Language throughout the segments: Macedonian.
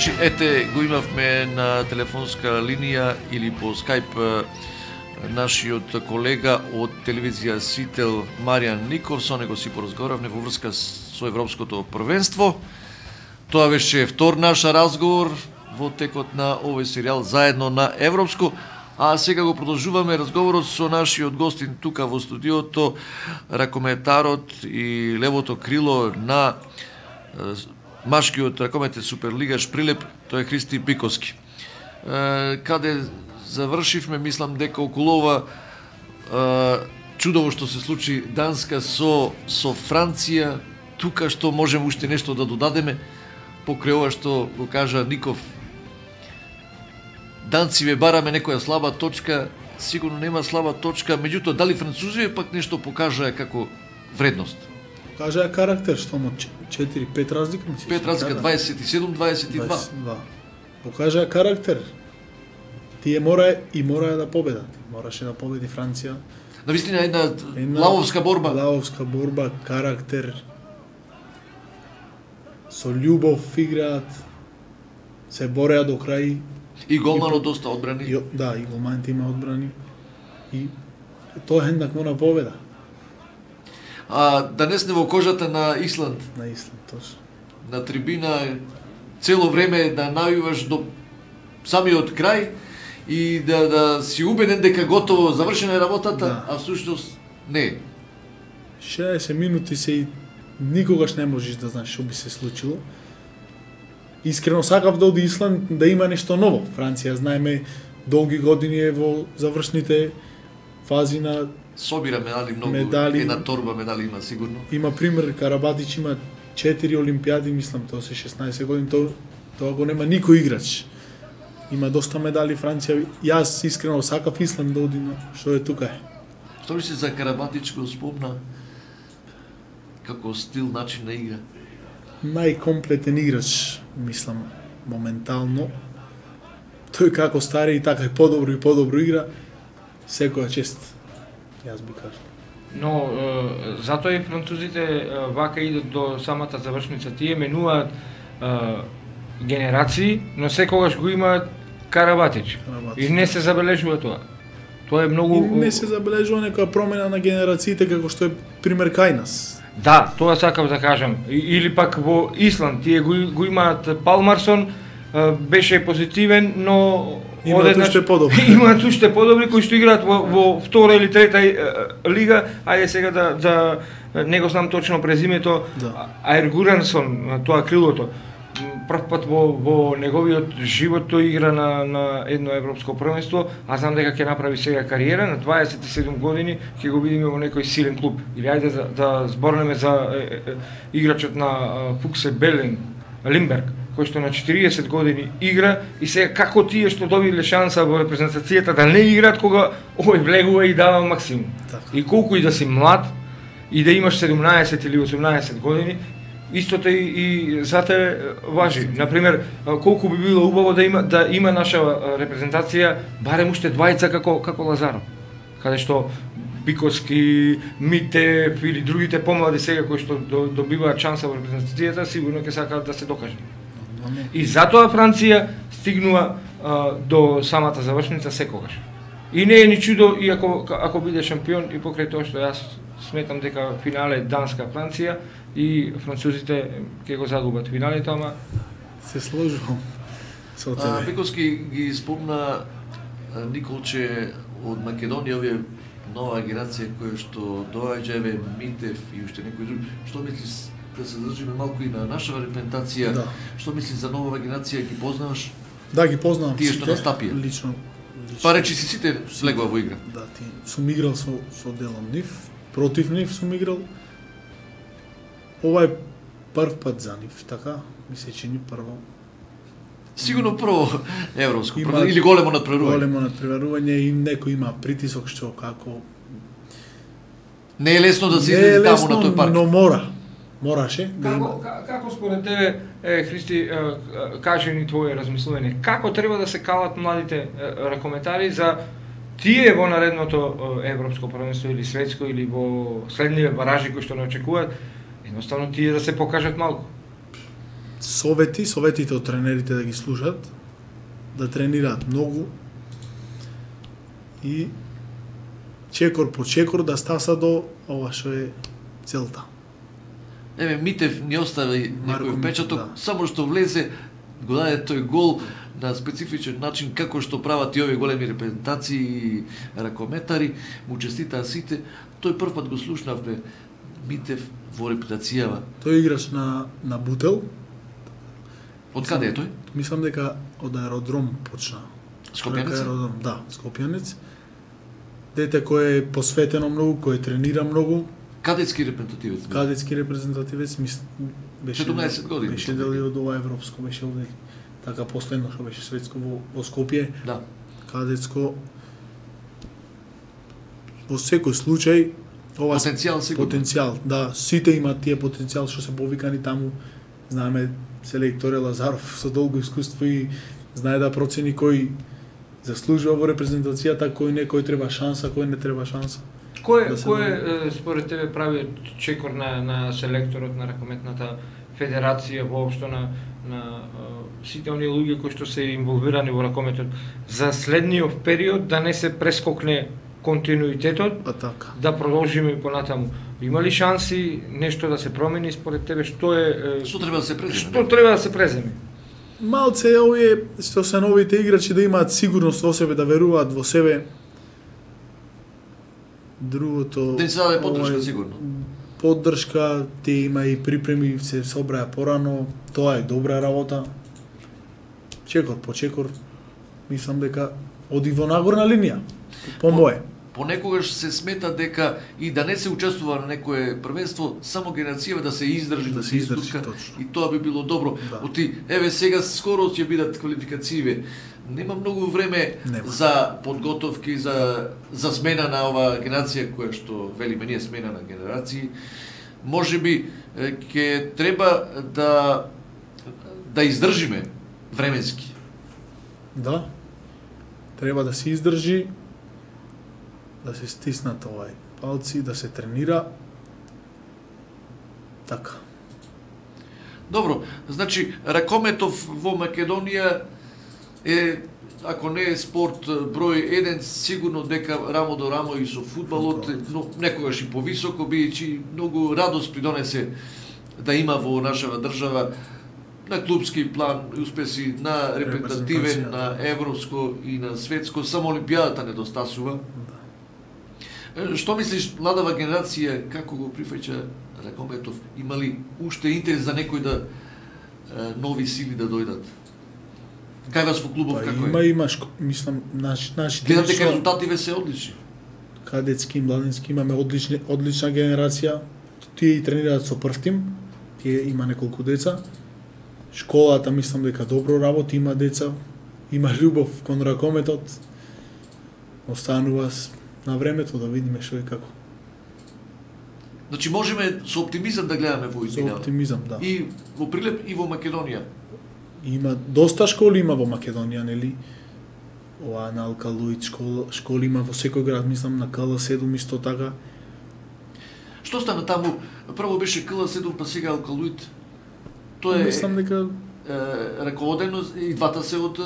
Значи, ете, го имавме на телефонска линија или по скајп нашиот колега од телевизија Сител Маријан Ников, со него си поразговаравме во врска со Европското првенство. Тоа беше втор наш разговор во текот на овој серијал заедно на Европско. А сега го продолжуваме разговорот со нашиот гостин тука во студиото, ракометарот и левото крило на машкиот ракометен суперлигаш Прилеп, тој е Христи Биковски. Каде завршивме, мислам дека околу ова чудово што се случи Данска со Франција, тука што можеме уште нешто да додадеме, покрај ова што го кажа Ников. Данциве бараме некоја слаба точка, сигурно нема слаба точка, меѓутоа дали французиве пак нешто покажаа како вредност? Покажаа карактер, што му 4-5 разлика, мислиш? 5 разлика, 27-22. Покажаа карактер. Тие мора да победат. Мораше да победи Франција. Навистина една лавовска борба. Лавовска борба, карактер. Со љубов играат. Се бореа до крај. И голманот доста одбрани. Да, и голманот има одбрани. И тоа хендак мора победа. Да не сме во кожата на Исланд. На Исланд, точно. На трибина цело време да навиваш до самиот крај и да си убеден дека готово завршена е работата, да. А всушност не. 60 минути се и никогаш не можеш да знаеш што би се случило. Искрено сакав да оди Исланд да има нешто ново. Франција, знаеме, долги години е во завршните фази на собира медали многу, медали. Една торба медали има сигурно. Има пример, Карабатич има 4 олимпијади, мислам, тоа се 16 години, тоа го нема никој играч. Има доста медали Франција. Јас искрено сакав Исланд да оди, што е тука е. Што ли се за Карабатич го спомна како стил, начин на игра? Најкомплетен играч, мислам, моментално. Тој како стари и така и подобро игра, секоја чест. Јас би кажал. Но затоа и французите вака идат до самата завршница. Тие менуваат генерации, но секогаш го имаат Карабатич. И не се забележува тоа. Тоа е многу... И не се забележува некоја промена на генерациите, како што е пример кај нас. Да, тоа сакав да кажам. Или пак во Исланд, тие го имаат Палмарсон, беше позитивен, но имаат уште подобри. Имаат уште подобри кои што играат во втора или трета лига. Ајде сега да не го знам точно презимето. Да. Аер Гурансон, тоа крилото. Прв пат во неговиот живот тој игра на едно европско првенство, а знам дека ќе направи сега кариера на 27 години, ќе го видиме во некој силен клуб. Или ајде да зборнеме за играчот на Фуксе Белен, Лимберг, кој што на 40 години игра и сега како тие што добиле шанса во репрезентацијата да не играат кога овој влегува и дава максимум. Так. И колку и да си млад и да имаш 17 или 18 години, истото и за тебе важи. Например, колку би било убаво да има наша репрезентација барем уште двајца како Лазаров. Каде што Биковски, Митев или другите помлади сега кои што добиваат шанса во репрезентацијата, сигурно ќе сакаат да се докажат. И затоа Франција стигнува до самата завршница секогаш. И не е ни чудо и ако биде шампион и покрај тоа што јас сметам дека финале Данска-Франција и французите ќе го загубат финалето, ама се сложувам со тебе. Биковски ги спомна Николче од Македонија, овие нова генерација која што доаѓа, еве Митев и уште некои други. Што мислиш, да се задржиме малку и на нашава репрезентација? Да. Што мислиш за нова генерација, ги познаваш? Да, ги познавам тие што настапија. Лично. Па речи си сите влегува во игра. Да, сум играл со делом нив, против нив сум играл. Ова е прв пат за нив, така ми се чини прво. Сигурно прво европско или големо надпреварување. Големо надпреварување и некој има притисок што како не е лесно да се излезе таму на тој парк. Но мораше да има. Како според тебе, Христи, кажи ни твое размислување, како треба да се калат младите ракометари за тие во наредното европско првенство или светско или во следниве баражи кои што не очекуваат, едноставно тие да се покажат малку? советите од тренерите да ги слушат, да тренираат многу и чекор по чекор да стаса до ова што е целта. Еве Митев не остави некој впечаток, да. само што влезе, го даде тој гол на специфичен начин, како што прават и овие големи репрезентации и ракометари, му честитаа сите. Тој прв пат го слушнавме Митев во репутацијава. Тој играч на Бутел. Од каде е тој? Мислам дека од аеродром почна. Скопјанец? Да, Скопјанец. Дете кој е посветено многу, кој тренира многу. Кадетски репрезентативец. Кадетски репрезентативец, беше 17 години. Беше дел и од ова европско, беше овде. Така последно што беше светско во Скопје. Да. Кадетско. Во секој случај ова Потенцијал сигурно. Потенцијал, да, сите имаат тие потенцијал што се повикани таму. Знаеме селекторе Лазаров со долго искуство и знае да процени кој заслужува во репрезентацијата, кој не, кој треба шанса, кој не треба шанса. Кој според тебе прави чекор на селекторот на ракометната федерација, воопшто на сите оние луѓе кои што се инволвирани во ракометот за следниот период да не се прескокне континуитетот, така. Да продолжиме понатаму. Има ли шанси нешто да се промени според тебе? Што треба да се преземе? Што треба да се преземе? Малце овие што се новите играчи да имаат сигурност во себе, да веруваат во себе. Другото... Да се даде поддршка сигурно. Поддршка, те има и припреми, се собраја порано, тоа е добра работа. Чекор по чекор, мислам дека оди во нагорна линија, по мое. Понекогаш се смета дека и да не се учествува на некое првенство, само генерацијава да се издржи, да се издржи, и тоа би било добро. Да. Оти, еве сега скоро ќе бидат квалификацииве. Нема многу време за подготовки, за смена на оваа генерација која што велиме ние смена на генерации. Можеби ќе треба да издржиме временски. Да. Треба да се издржи, да се стиснат палци, да се тренира. Така. Добро, значи ракометов во Македонија е, ако не е спорт број 1, сигурно дека рамо до рамо и со фудбалот, но некогаш и повисоко, бидејќи многу радост придонесе да има во нашава држава на клубски план и успеси, на репрезентативен, на европско и на светско, само Олимпијадата недостасува. Што мислиш, младава генерација, како го прифаќа ракометов? Има ли уште интерес за некој нови сили да дојдат? Кај вас во клубов како е? Има, мислам, нашите... Гледам дека резултативе се одлични. Кадетски, младински, имаме одлична генерација. Тие и тренираат со прв тим, тие има неколку деца. Школата, мислам дека добро работи, има деца, има љубов кон ракометот. Останува на времето да видиме што и како. Значи можеме со оптимизам да гледаме во изминава. Со оптимизам, да. И во Прилеп и во Македонија. Има доста школи има во Македонија, нели? Ова на Алкалуит школи има во секој град, мислам на КЛ7 исто така. Што стана таму? Прво беше КЛ7, па сега Алкалуит. Тоа е... Мислам дека раководено и двата се од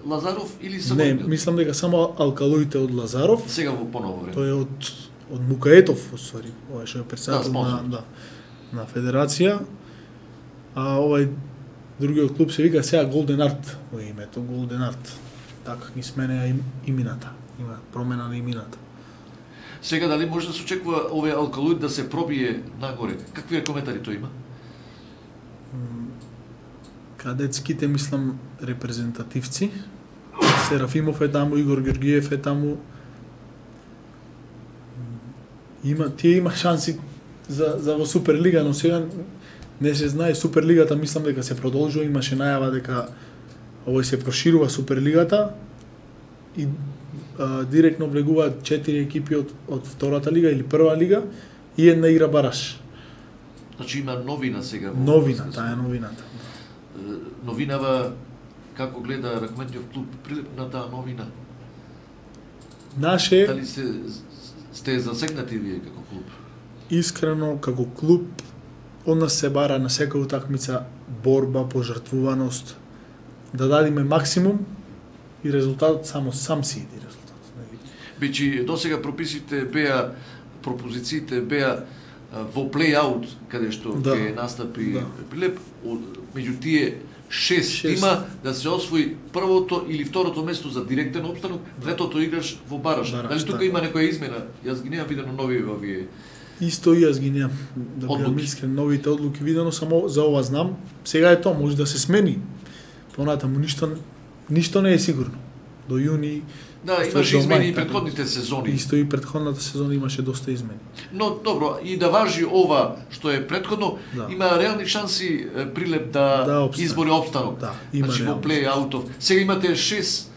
Лазаров или само? Не, мислам дека само Алкалуит е од Лазаров. Сега во поново време. Тој е од Мукаетов, уствари. Ова што е председател на федерација. А овај другиот клуб се вика сега Голден Арт во името, Голден Арт. Така ги сменеа имината. Има промена на имината. Сега дали може да се очекува овој Алкалуит да се пробие нагоре? Какви коментари тој има? Кадетските, мислам, репрезентативци. Серафимов е таму, Игор Георгиев е таму. Тие има шанси за во Суперлига, но сега не се знае. Суперлигата мислам дека се продолжува, имаше најава дека овој се проширува Суперлигата и директно влегуваат 4 екипи од втората лига или прва лига и една игра бараш. Значи има новина сега. Новина, таа е новината. Новинава како гледа ракометниот клуб Прилеп на таа новина? Дали сте засегнати вие како клуб? Искрено, како клуб, од нас се бара на секоја утакмица борба, пожртвуваност, да дадиме максимум и резултатот сам си иде резултатот. Бичи досега прописите беа, пропозициите беа во плей-аут, каде што ќе настапи Прилеп, меѓу тие 6 тима да се освои првото или второто место за директен опстанок, третото играш во бараж. Дали тука има некоја измена? Јас ги немам видено нови овие. Исто и јас ги немам, да бидам искрен, новите одлуки видено, само за ова знам. Сега е тоа, може да се смени. Понатаму ништо не е сигурно. До јуни. Да, имаше измени и претходните сезони. Исто и претходната сезона имаше доста измени. Но добро, и да важи ова што е претходно, има реални шанси Прилеп да избори опстанок. Да, има значи во плей-аутов. Сега имате 6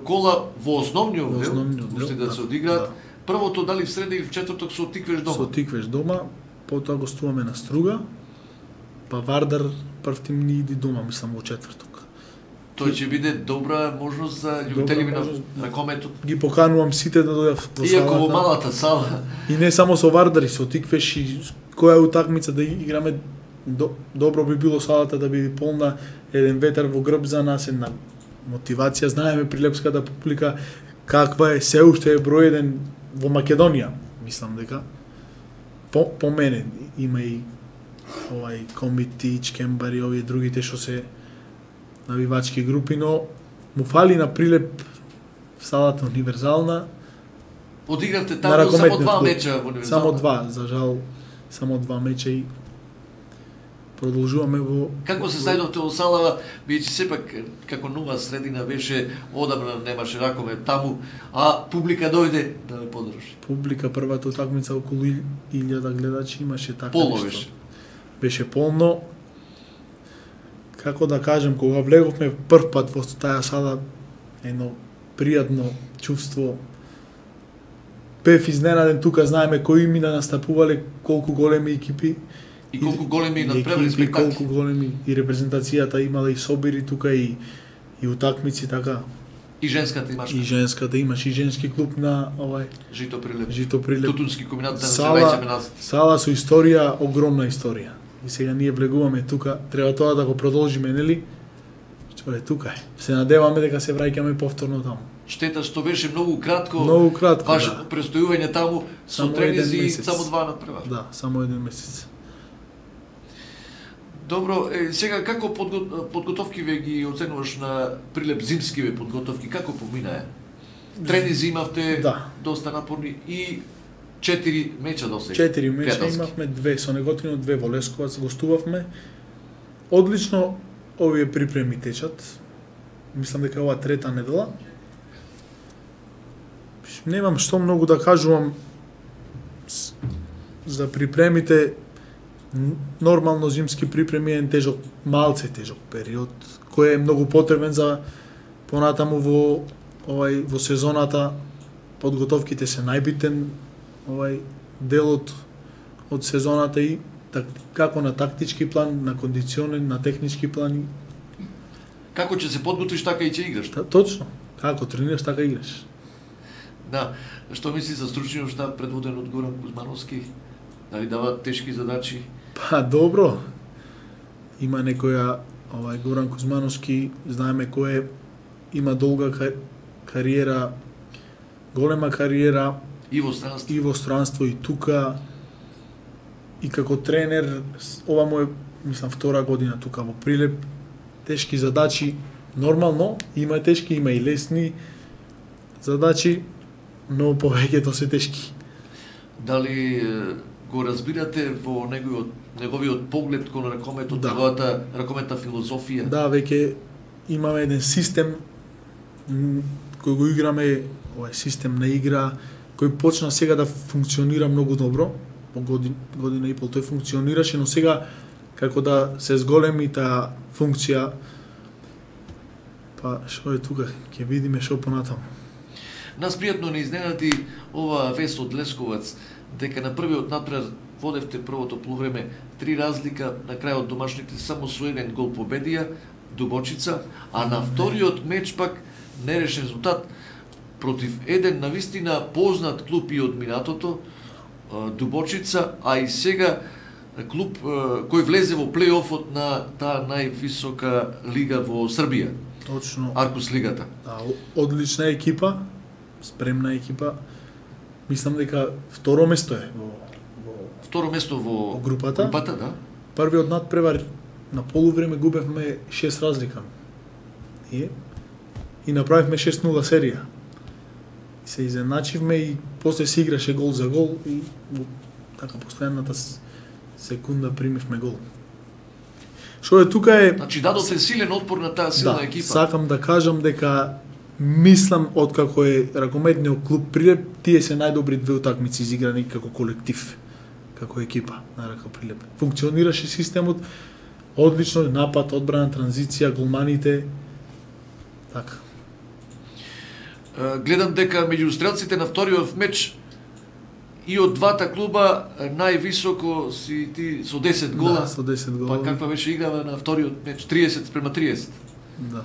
кола во основниот дел, уште да се одиграат. Првото дали в среда или в четврток со Тиквеш дома? Со Тиквеш дома, потоа гостуваме на Струга, па Вардар прв тим ни иди дома, мислам во четврток. Тој ќе биде добра можност за љубителите на ракометот. Ги поканувам сите да дојдат во салата. Иако во малата сала. И не само со Вардар, и со Тиквеш, и која утакмица да играме, добро би било салата да биде полна, еден ветер во грб за нас, една мотивација. Знаеме прилепската публика каква е, се уште е број еден во Македонија, мислам дека. По мене има и Комити, Чкембари, овие другите што се навивачки групи, но му фали на Прилеп салата универзална. Одигравте таму само 2 меча во универзална? Само 2, за жал, само 2 меча и продолжуваме во... Како се зајдовте во салава, бидејќи сепак како нова средина беше, одамна немаше ракомет таму, а публика дојде да ве подржи? Публика првата утакмица околу 1000 гледачи имаше така. Полно беше? Беше полно. Како да кажем, кога влеговме прв пат во таа сала, едно пријатно чувство. Бев изненаден, тука знаеме кои имена настапувале, колку големи екипи. И колку големи надпреварни спектакли. Колку големи и репрезентацијата имала и собири тука и утакмици така. И женската имаш. И женската имаш и женски клуб на Жито Прилеп. Жито Прилеп. Тутунски комбинат на населување. Сала со историја, огромна историја. И сега ние влегуваме тука, треба тоа да го продолжиме, нели? Што е тука е. Се надеваме дека се враќаме повторно таму. Штета што беше многу кратко. Многу кратко, Ваше престојување таму со тренизи и само 2 надпревар. Да, само 1 месец. Добро, сега како подготовки ве ги оценуваш на Прилеп, зимскиве подготовки, како поминаа? Тренизи имавте доста напорни и 4 меча досега. 4 меча имавме, 2 со Неготино, 2 во Лесковац, гостувавме. Одлично овие припреми течат. Мислам дека ова трета недела. Немам што многу да кажувам за припремите. Нормално зимски припреми е тежок, малце тежок период, кој е многу потребен за понатаму во сезоната. Подготовките се најбитен делот од сезоната и како на тактички план, на кондиционен, на технички план. Како ќе се подготвиш, така и ќе играш. Точно. Како тренираш, така играш. Да. Што мисли за стручниот штаб предводен од Горан Кузмановски? Дали дава тешки задачи? Па добро. Има некоја Горан Кузмановски, знаеме кој е, има долга кариера, голема кариера и во странство и тука. И како тренер, ова му е, мислам, 2 година тука во Прилеп. Тешки задачи, нормално, има тешки, има и лесни задачи, но повеќето се тешки. Дали го разбирате во неговиот поглед кон ракометот, неговата ракометна филозофија? Да, веќе имаме еден систем кој го играме, систем на игра, кој почна сега да функционира многу добро, по година и пол тој функционираше, но сега како да се зголеми таа функција, па што е тука, ќе видиме што понатаму. Нас пријатно не изненади ова вест од Лесковац, дека на првиот надпревар водевте првото полувреме 3 разлика, на крајот домашните само со 1 гол победија, Дубочица, а на вториот меч пак нерешен резултат против еден навистина познат клуб и од минатото, Дубочица, а и сега клуб кој влезе во плейофот на таа највисока лига во Србија. Точно. Аркус лигата. Да, одлична екипа, спремна екипа. Мислам дека второ место е второ место во групата. Групата, да. Првиот надпревар на полувреме губевме 6 разлика. И направивме 6-0 серија. Се изеначивме и после се играше гол за гол и така последната секунда примивме гол. Што е тука е... Значи дадоте силен отпор на таа силна екипа. Да, сакам да кажам дека мислам откако е ракометниот клуб Прилеп, тие се најдобри две утакмици изиграни како колектив, како екипа на РК Прилеп. Функционираше системот одлично, напад, одбрана, транзиција, голманите. Така. Гледам дека меѓу стрелците на вториот меч и од двата клуба највисоко си ти со 10 гола. Да, со 10 гола. Па каква беше играва на вториот меч? 30-30. Да.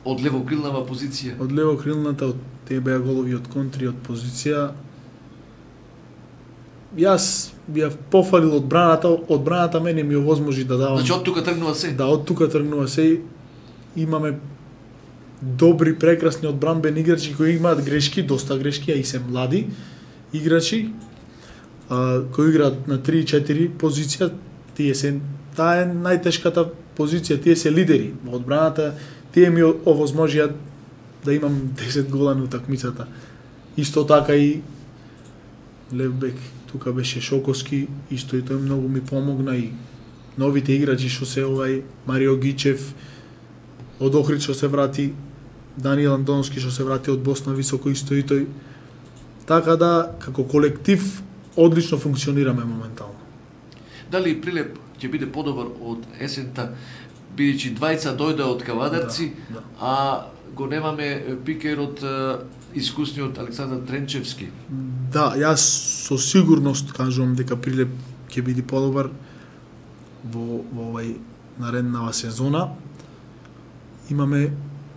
Од левокрилнава позиција. Од левокрилната, од тие беа голови од контри, од позиција. Јас бија пофалил одбраната мене ми овозможи да давам. Значи од тука тргнува се. Да, од тука тргнува се. Имаме добри, прекрасни одбранбени играчи кои имаат грешки, доста грешки, а и се млади играчи, кои играат на 3-4 позиција. Таа е најтешката позиција, тие се лидери во одбраната, тие ми овозможија да имам 10 гола на утакмицата. Исто така и левбек, тука беше Шоковски, исто и тој многу ми помогна, и новите играчи што се Марио Гичев, од Охрид што се врати, Даниел Андоновски што се врати од Босна високо, исто и тој. Така да, како колектив, одлично функционираме моментално. Дали Прилеп ќе биде подобар од есента, бидејќи двајца дојде од Кавадарци, да. а го немаме пикерот искусниот Александар Тренчевски? Да, јас со сигурност кажувам дека Прилеп ќе биде подобар во овај нареднава сезона. Имаме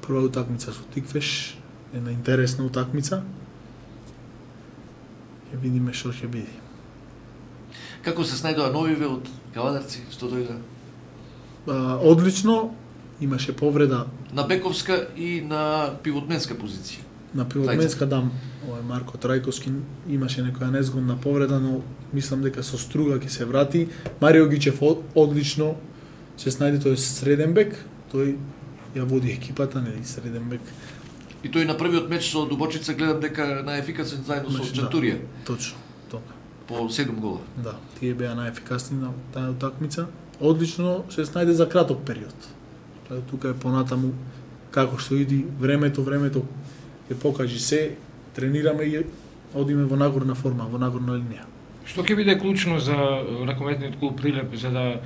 прва утакмица со Тиквеш, една интересна утакмица. Ќе видиме што ќе биде. Како се снајдоа новиве од Кавадарци, што дојде? Одлично, имаше повреда на бековска и на пивотменска позиција. На пивотменска дам, Марко Трајковски имаше некоја незгодна повреда, но мислам дека со Струга ќе се врати. Марио Гичев одлично се снајде, тој е среден бек, тој ја води екипата, нели, среден бек. И тој на првиот меч со Дубочица гледам дека најефикасен заедно со Чантурија. Да, точно, така. По 7 гола. Да, тие беа најефикасни на таа утакмица. Одлично се снајде за краток период. Тука е понатаму како што иди времето ќе покажи се, тренираме и одиме во нагорна форма, во нагорна линија. Што ќе биде клучно за ракометниот клуб Прилеп за да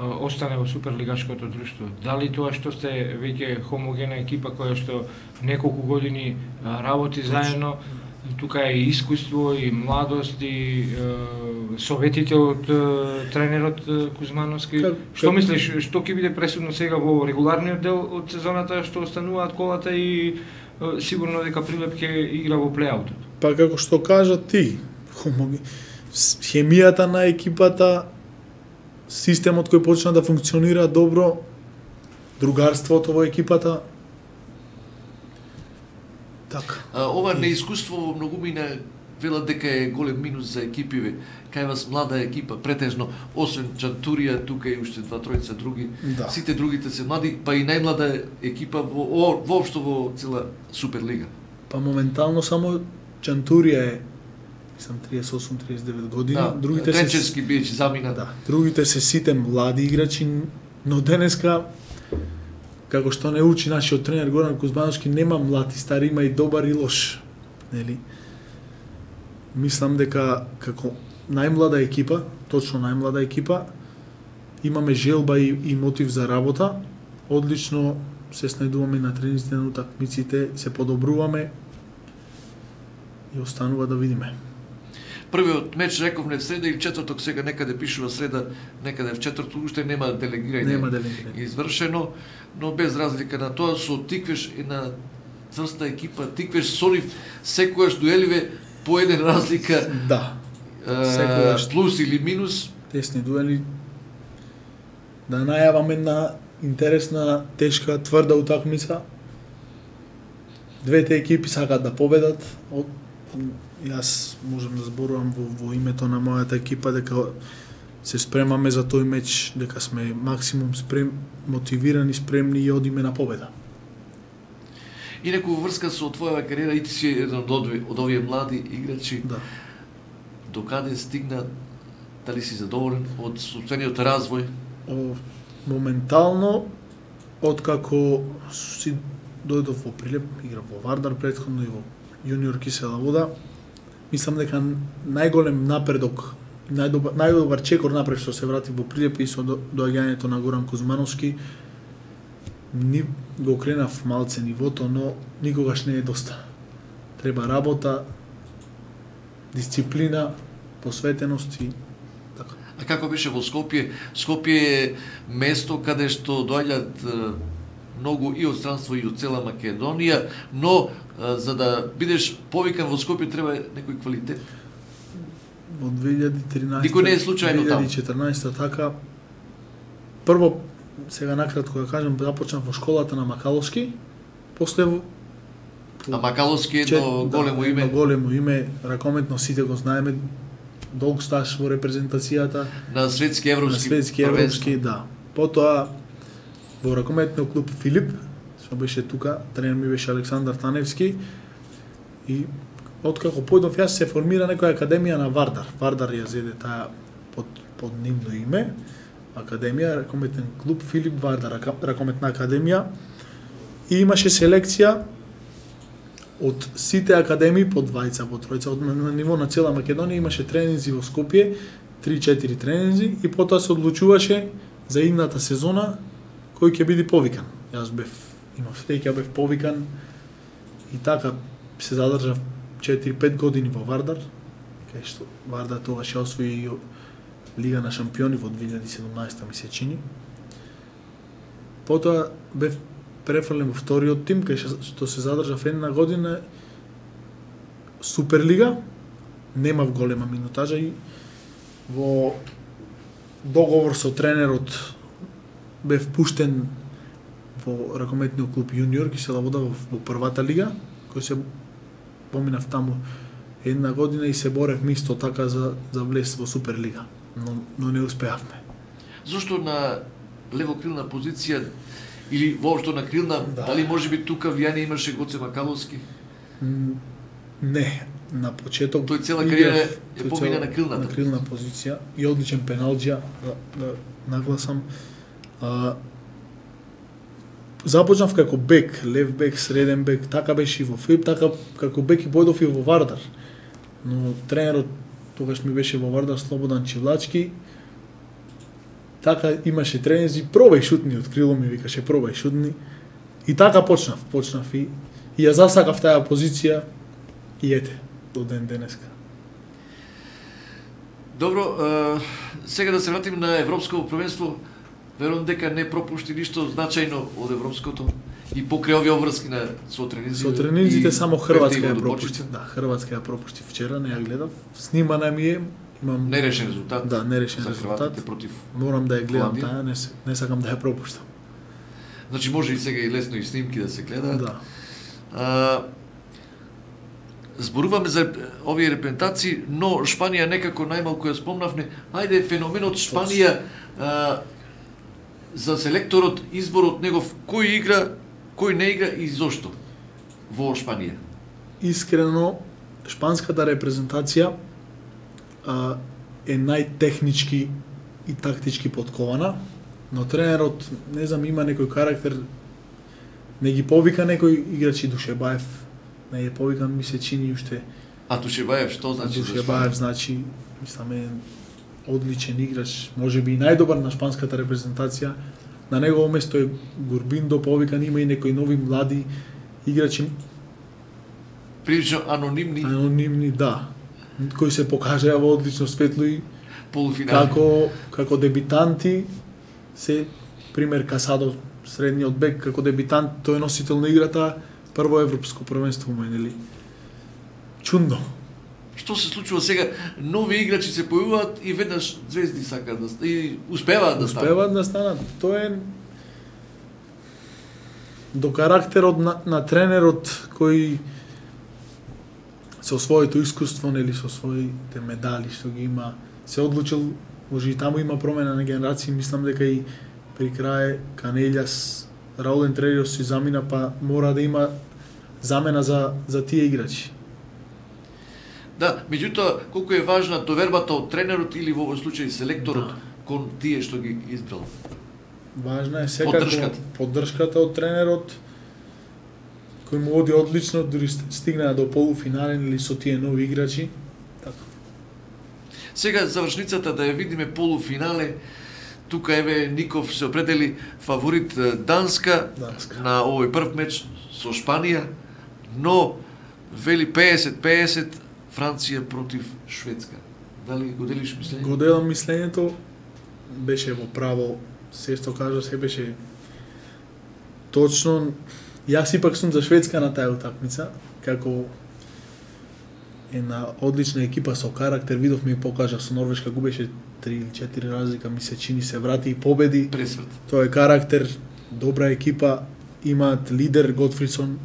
остане во суперлигашкото друштво? Дали тоа што сте веќе хомогена екипа која што неколку години работи заедно, тука е и искуство, и младост, и советите од тренерот Кузмановски. Што мислиш, што ќе биде пресудно сега во регуларниот дел од сезоната, што остануваат колата и сигурно дека Прилеп ќе игра во плејаутот? Па како што кажа ти, хемијата на екипата, системот кој почна да функционира добро, другарството во екипата. Така. Ова неискуство во многумина велат дека е голем минус за екипиве. Кај вас млада екипа, претежно, освен Чантурија, тука и уште 2-3 други. Да. Сите другите се млади, па и најмлада екипа воопшто во цела Суперлига. Па моментално само Чантурија е 38-39 години. Да, другите Тренчевски биеше замина. Да, другите се сите млади играчи, но денеска како што не учи нашиот тренер Горан Кузмановски, нема млад и стар, има и добар и лош. Нели? Мислам дека како најмлада екипа, точно најмлада екипа, имаме желба и мотив за работа. Одлично се снајдуваме на тренинзите, на утакмиците, се подобруваме и останува да видиме. Првиот меч рековме в среда или четврток, сега некаде пишува среда, некаде в четврток, уште нема делегирање извршено, но без разлика на тоа, со Тиквеш една црста екипа, Тиквеш со нив секојаш дуеливе по еден разлика. Да. Секогаш плюс или минус? тесни дуели. Да најаваме една интересна, тешка, тврда утакмица. Двете екипи сакаат да победат. Јас можам да зборувам во името на мојата екипа дека се спремаме за тој меч, дека сме максимум мотивирани, спремни и одиме на победа. Инаку во врска со твојава кариера и ти си еден од овие млади играчи. Да. Докаде стигна, дали си задоволен од собствениот развој? Моментално, откако си дојдов во Прилеп, играв во Вардар претходно и во Јуниор Кисела Вода, мислам дека најголем напредок, најдобар чекор напред што се врати во Прилеп и со доаѓањето на Горан Кузмановски, ни го кренав малце нивото, но никогаш не е доста. Треба работа, дисциплина, посветеност и така. А како беше во Скопје? Скопје е место каде што доаѓаат многу и од странство и од цела Македонија, но за да бидеш повикан во Скопје треба некој квалитет. Во 2013, никој не е случајно таму. 2014 така. Прво, сега накратко да кажам, започнав во школата на Макаловски, после А Макаловски е едно големо име. Едно големо име, ракометно сите го знаеме, долг стаж во репрезентацијата на светски европски, да. Потоа во ракометниот клуб Филип, што беше тука, тренер ми беше Александар Таневски, и откако појдов јас се формира некоја академија на Вардар. Вардар ја зеде таа под нивно име, академија, ракометен клуб Филип Вардар, ракометна академија, и имаше селекција од сите академии по двајца, по тројца, на ниво на цела Македонија имаше тренинзи во Скопје, 3-4 тренинзи, и потоа се одлучуваше за идната сезона кој ќе биде повикан. Јас имав среќа, бев повикан и така се задржав 4-5 години во Вардар, кај што Вардар тогаш ја освои Лига на шампиони во 2017 ми се чини. Потоа бев префрлен во вториот тим, кај што се задржав една година Суперлига, немав голема минутажа и во договор со тренерот бев пуштен во ракометниот клуб Јуниор Кисела Вода во првата лига, кој се поминав таму една година и се борев исто така за влез во Суперлига, но не успеавме. Зошто на левокрилна позиција или воопшто на крилна, да. Дали можеби тука влијание имаше Гоце Макаловски? Не, на почеток тој цела кариера е помина на крилната. На крилна позиција и одличен пеналџија, да нагласам. Започнав како бек, лев бек, среден бек, така беше и во Филип, така како бек и појдов и во Вардар. Но тренерот тогаш ми беше во Вардар Слободан Чивлачки. Така имаше тренинзи, пробај шутни од крило ми викаше, пробај шутни. И така почнав и ја засакав таа позиција и ете, до ден денеска. Добро, сега да се вратим на Европско првенство. Верувам дека не пропушти ништо значајно од европското и покрај овие обврски со тренинзи. Со тренинзите само Хрватска ја пропушти. Да, Хрватска ја пропушти вчера, не ја гледав. Снимана ми е, имам нерешен резултат. Да, нерешен резултат. Против. Морам да ја гледам таа, не сакам да ја пропуштам. Значи може и сега и лесно и снимки да се гледаат. Да. Зборуваме за овие репрезентации, но Шпанија некако најмалку ја спомнавме. Ајде феноменот Шпанија за селекторот, изборот негов, кој игра, кој не игра и зошто во Шпанија? Искрено, шпанската репрезентација е најтехнички и тактички подкована, но тренерот, не знам, има некој карактер, не ги повика некој играчи. Душебаев не е повикан, ми се чини уште. А Душебаев што значи? Душебаев значи, мислам, е одличен играч, можеби и најдобар на шпанската репрезентација. На негово место е Гурбиндо повикан, има и некои нови млади играчи. Прилично анонимни. Анонимни, да. Кои се покажаа во одлично светло и полуфинали. Како дебитанти се пример Касадо, средниот бек, како дебитант, тој е носител на играта, прво европско првенство му е, нели? Чудно. Што се случува сега? Нови играчи се појавуваат и веднаш звезди сакаат да и успеваат да станат. Успеваат да станат. Тоа е до карактерот на тренерот кој со своето искуство, нели со своите медали што ги има, се одлучил, може и таму има промена на генерации, мислам дека и при крај Канелјас, Раул Ентрелиос си замина, па мора да има замена за тие играчи. Да, меѓутоа, колку е важна довербата од тренерот или во овој случај селекторот кон тие што ги избрал? Важна е секако поддршката од тренерот, кој му оди одлично, дури стигна до полуфинален или со тие нови играчи. Така. Сега завршницата да ја видиме полуфинале. Тука еве Ников се определи фаворит Данска. На овој прв меч со Шпанија, но вели 50-50 Франција против Шведска. Дали го делиш мислење? Го делам мислењето, беше во право, се што кажа се беше точно. Јас ипак сум за Шведска на таа утакмица, како една одлична екипа со карактер, видовме и покажа со Норвешка, губеше 3 или 4 разлика, ми се чини, се врати и победи. Пресвет. Тоа е карактер, добра екипа, имаат лидер Готфридсон,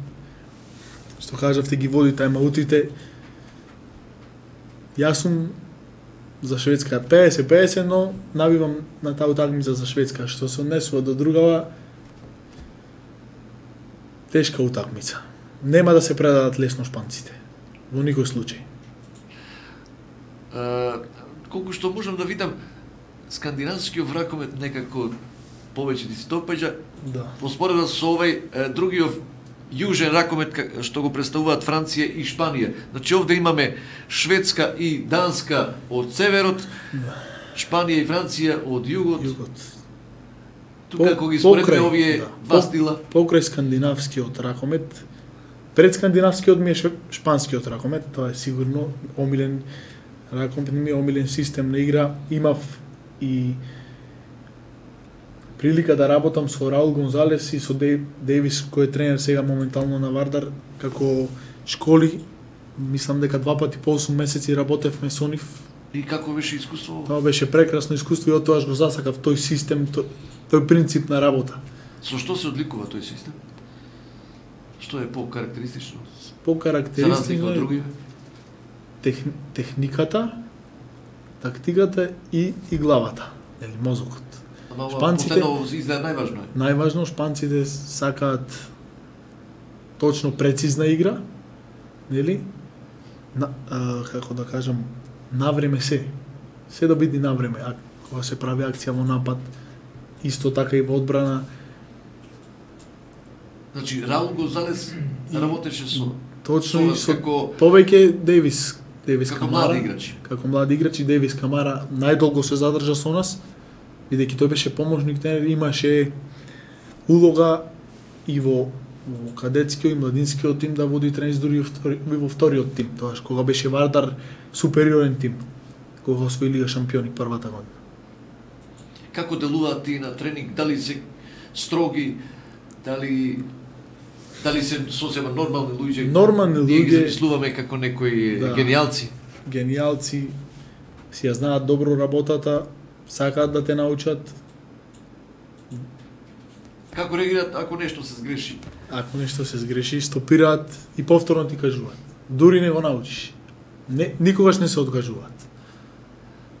што кажавте ги води тајмаутите. Јас сум за Шведска 50-50, но набивам на таа утакмица за Шведска, што се однесува до другава тешка утакмица. Нема да се предадат лесно шпанците. Во никој случај. Колку што можам да видам, скандинавскиот ракомет некако повеќе ти се допаѓа. Да. Поспоредба со овој другиот јужен ракомет што го представуваат Франција и Шпанија. Значи овде имаме Шведска и Данска од северот, Шпанија и Франција од југот. Тука кога ги споредиме овие два стила, покрај скандинавскиот ракомет, пред скандинавскиот ми е шпанскиот ракомет, тоа е сигурно омилен ракомет, ми е омилен систем на игра. Имав и прилика да работам со Раул Гонзалес и со Дейвис, кој е тренер сега моментално на Вардар, како школи. Мислам дека 2 пати по 8 месеци работевме со нив. И како беше искуство? Тоа беше прекрасно искуство и од тоа го засакав тој систем, тој принцип на работа. Со што се одликува тој систем? Што е по-карактеристично? По-карактеристично е техниката, тактиката и главата, нели мозокот. Шпанците изгледа најважно е. Најважно, шпанците сакаат точно прецизна игра, нели? Како да кажам, навреме се. Се да биде навреме. А кога се прави акција во напад, исто така и во одбрана. Значи Раул Гонзалес работеше со точно и со повеќе Дейвис Камара, како млади играчи, Дейвис Камара најдолго се задржа со нас, бидејќи тој беше помошник тренер, имаше улога и во кадетскиот и младинскиот тим да води тренинг, дури во вториот тим, тоаш кога беше Вардар супериорен тим, кога освои Лига шампиони првата година. Како делуваат тие на тренинг? Дали се строги, дали се сосема нормални луѓе? Нормални луѓе. Ние ги замислуваме како некои гениалци. Гениалци си ја знаат добро работата, сакаат да те научат. Како реагираат ако нешто се сгреши? Ако нешто се сгреши, стопираат и повторно ти кажуваат. Дури не го научиш. Никогаш не се откажуваат.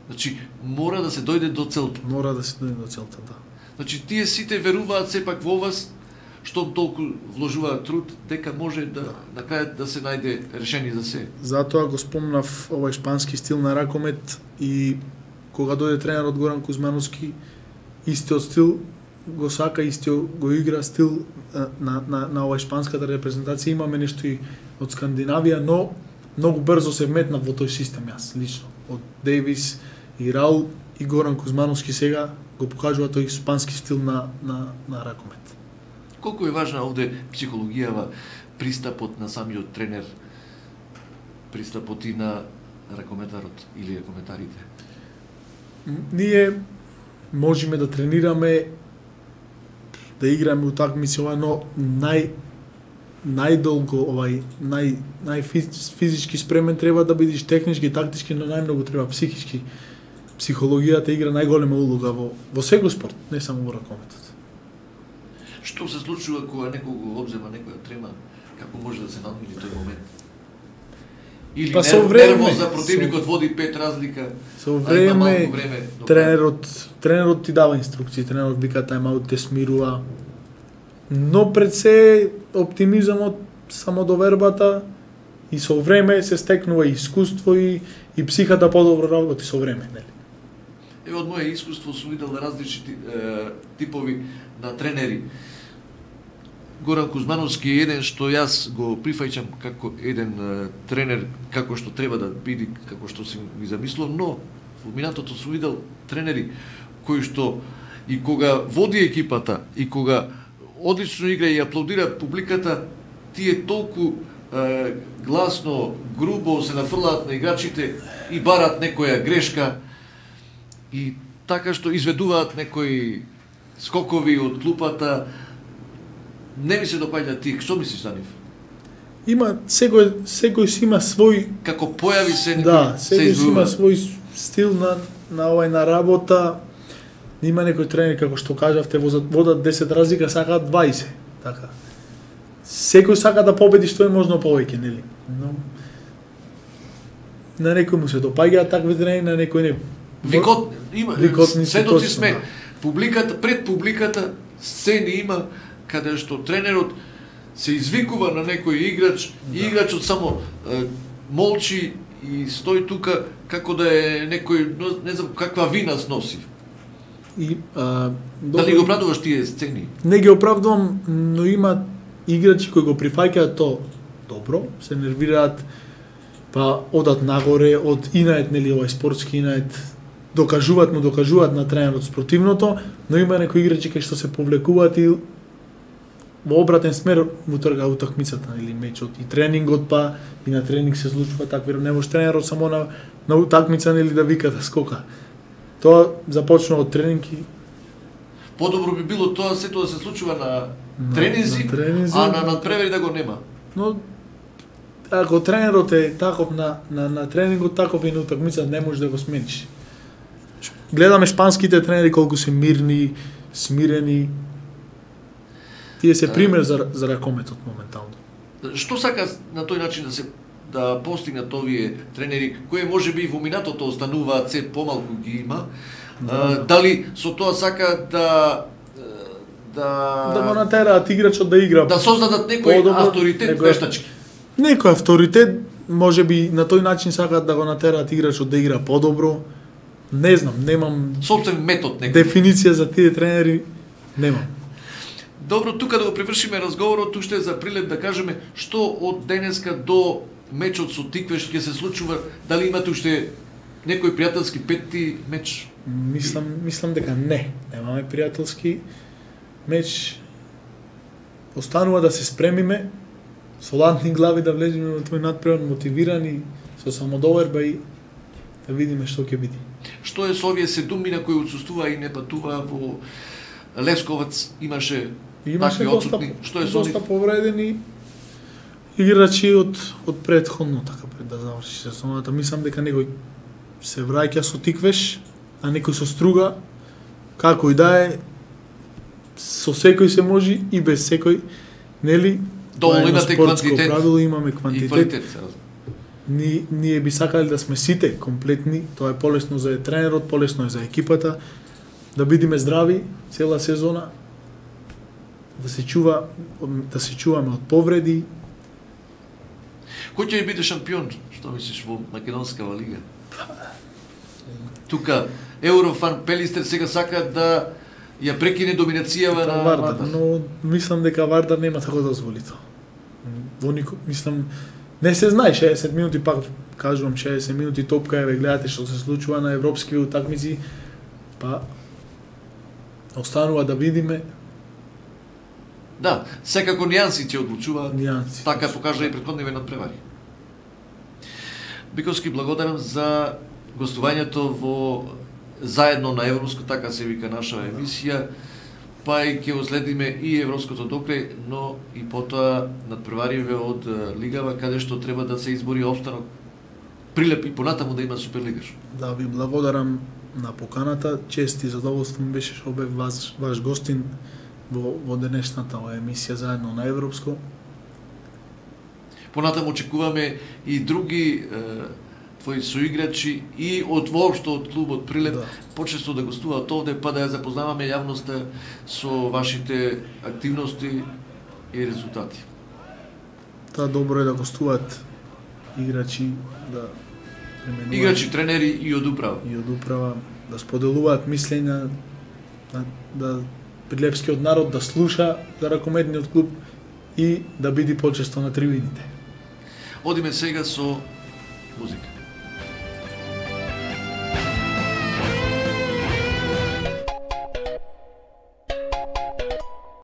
Значи, мора да се дојде до целта. Мора да се дојде до целта, да. Значи, тие сите веруваат сепак во вас, што толку вложуваат труд, дека може на крајот да се најде решение за се. Затоа го спомнав овој шпански стил на ракомет и кога дојде тренерот Горан Кузмановски, истиот стил го сака, истиот го игра стил на овој шпанската репрезентација. Имаме нешто и од Скандинавија, но многу брзо се вметнав во тој систем јас лично. Од Дейвис и Раул и Горан Кузмановски сега го покажува тој шпански стил на ракомет. Колку е важна овде психологијава, пристапот на самиот тренер, пристапот и на ракометарот или ракометарите? Ние можеме да тренираме, да играме утакмици, но најдолго најфизички спремен треба да бидеш, технички, тактички, но најмногу треба психички. Психологијата игра најголема улога во секој спорт, не само во ракометот. Што се случува кога некој го обзема некоја трема? Како може да се надмини тој момент? Или нервоз за противникот води 5 разлика? Со време тренерот ти дава инструкции, тренерот вика тајм-аут, те смирува. Но пред се оптимизамот, самодовербата и со време се стекнува и искуство и психата подобро работи со време, нели? Еве од моје искуство сум видел различни типови на тренери. Горан Кузмановски е еден што јас го прифаќам како еден тренер, како што треба да биде, како што си ги замислувам, но во минатото сум видел тренери кои што и кога води екипата и кога одлично игра и аплаудира публиката, тие толку гласно, грубо се нафрлаат на играчите и барат некоја грешка и така што изведуваат некои скокови од клупата. Не ми се допаѓа ти, што мислиш за нив? Има секој си има свој, како појави се секој си има свој стил на работа. Има некој тренер, како што кажавте, водат 10 разлика, сакаат 20, така. Секој сака да победи што е можно повеќе, нели? Но на некој му се допаѓаат такви тренери, на некој не. Сведоци сме. Публиката, пред публиката сцени има каде што тренерот се извикува на некој играч и играчот само молчи и стои тука како да е некој, не знам каква вина сноси. Дали го оправдуваш тие сцени? Не ги оправдувам, но има играчи кои го прифаќаат то добро, се нервираат, па одат нагоре, од инает, нели, овај спортски инает, докажуваат на тренерот спротивното, но има некои играчи кои што се повлекуваат и во обратен смер му трга утакмицата или мечот и тренингот, па и на тренинг се случува такви, не може тренерот само на утакмица нели да вика да скока. Тоа започнува од тренинги. Подобро би било тоа сето да се случува на тренинзи, а на надпревари да го нема. Но ако тренерот е таков на тренингот, таков и на утакмица, не може да го смениш. Гледаме шпанските тренери колку се мирни, смирени. Тие се пример за ракометот моментално. Што сака на тој начин да постигнат овие тренери, кои може би во минатото остануваат се помалку ги има, дали со тоа сака да го натераат играчот да игра, да создадат некој авторитет вештачки. Некој авторитет, може би на тој начин сакаат да го натераат играчот да игра подобро. Не знам, немам собствен метод некој. Дефиниција за тие тренери немам. Добро, тука да го привршиме разговорот, уште за прилеп да кажеме што од денеска до мечот со Тиквеш ќе се случува, дали имате уште некој пријателски петти меч? Мислам дека немаме пријателски меч. Останува да се спремиме со ладни глави да влеземе во тој надпревар, мотивирани, со самодоверба и да видиме што ќе биде. Што е со овие 7 на кои отсуствува и не патува во Лесковац? Имаше такви отсутни. Што е со нив? Доста повредени играчи од претходно, така пред да заврши сезоната. Мислам дека некој се враќа со Тиквеш, а некој со Струга, како и да е, со секој се може и без секој, нели? Доволно имате квантитет. Правило, имаме квантитет. И квалитет. Ние би сакале да сме сите комплетни, тоа е полесно за тренерот, полесно е за екипата, да бидеме здрави цела сезона, да се чуваме од повреди. Кој ќе биде шампион, што мислиш, во Македонскава лига? Тука Еврофан Пелистер сега сака да ја прекине доминацијава на Вардар, но мислам дека Вардар нема да го дозволи тоа. Мислам, не се знае, 60 минути, пак кажувам 60 минути топка, еве гледате што се случува на европски утакмици, па останува да видиме. Да, секако нијанси ќе одлучуваат. Нијанси. Така покажа и претходниве надпревари. Биковски, благодарам за гостувањето во заедно на Европско, така се вика наша емисија. па и ќе следиме и европското докрај, но и потоа надпревариве од лигава каде што треба да се избори опстанок Прилеп и понатаму да има Суперлигаш. Да, ви благодарам на поканата. Чест и задоволство ми беше што бев ваш гостин во денешната емисија заедно на Европско. Понатаму очекуваме и други твои соиграчи и од воопшто од клубот Прилеп, да, почесто да гостуваат овде, па да ја запознаваме јавноста со вашите активности и резултати. Та добро е да гостуваат играчи, да применуваат играчи, тренери и од управа. И од управа да споделуваат мислења, да прилепскиот народ да слуша за ракометниот клуб и да биде почесто на трибините. Одиме сега со музика.